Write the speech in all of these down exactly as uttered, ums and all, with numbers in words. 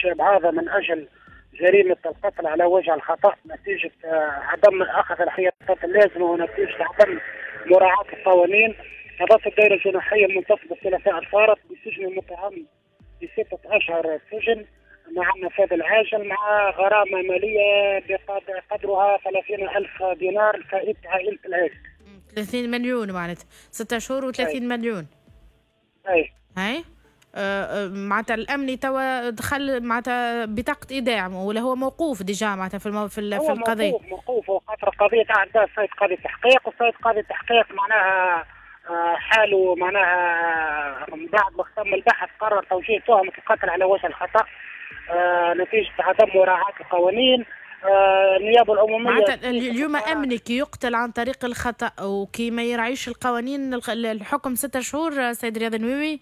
الشاب هذا من اجل جريمة القتل على وجه الخطا نتيجة عدم اخذ الاحتياطات اللازمة ونتيجة عدم مراعاة القوانين. قضت الدائرة الجناحيه المنتصبه الثلاثاء الفارط بسجن المتهم بسته اشهر سجن مع النفاذ العاجل مع غرامة ماليه بقدرها ثلاثين ألف دينار لفائدة عائلة الهالك. ثلاثين مليون معناتها ستة شهور وثلاثين مليون. اي اي آه معناتها الامني توا دخل معناتها بطاقة ايداع ولا هو موقوف déjà معناتها في المو... في, في القضية؟ موقوف موقوف وخاطر القضية تعدى السيد قاضي التحقيق، والسيد قاضي التحقيق معناها حاله معناها من بعد ما ختم البحث قرر توجيه تهمه القتل على وجه الخطا آه نتيجة عدم مراعاة القوانين. آه النيابة العمومية معناتها اليوم امني كي يقتل عن طريق الخطا وكي ما يراعيش القوانين الحكم ستة شهور سيد رياض النويوي؟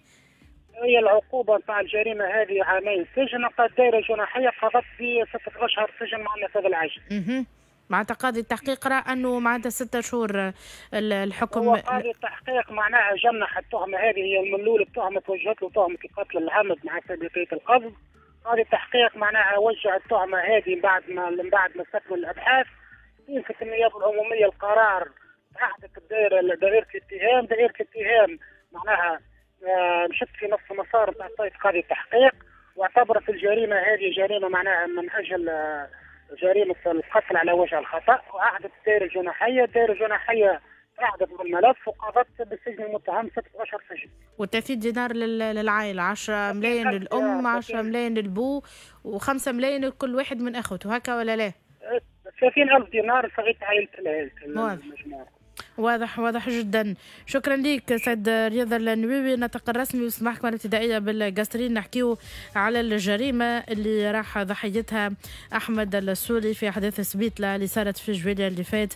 هي العقوبة نتاع الجريمة هذه عامين سجن، الدائرة الجناحيه قضت بسته اشهر سجن مع النفاذ العاجل. اها معناتها قاضي التحقيق رأى انه معناتها ستة شهور الحكم. هو قاضي التحقيق معناها جنح التهمة هذه، هي من الاول التهمة توجهت له تهمه القتل العمد مع سابقيه القصد. قاضي التحقيق معناها وجه التهمة هذه من بعد ما من بعد ما استكمل الابحاث. استنفت النيابة العمومية القرار، عهدت الدائرة دائرة الاتهام، دائرة الاتهام معناها مشت في نفس المسار نتاع السيد قاضي التحقيق واعتبرت الجريمة هذه جريمة معناها من اجل جريمة القتل على وجه الخطا، وعهدت الدائرة الجناحيه، الدائرة الجناحيه عهدت بالملف وقضت بالسجن المتهم ستة اشهر سجن. وثلاثين دينار للعائلة، عشرة ملايين للام، عشرة ملايين للبو، وخمسة ملايين لكل واحد من اخوته، هكا ولا لا؟ ثلاثين ألف دينار لفائدة عائلة المجموعة. واضح واضح جدا. شكرا لك سيد رياض النويوي الناطق الرسمي باسم المحكمة الابتدائية بالقصرين. نحكيو على الجريمة اللي راح ضحيتها احمد السولي في احداث سبيتلا اللي صارت في جويليا اللي فات.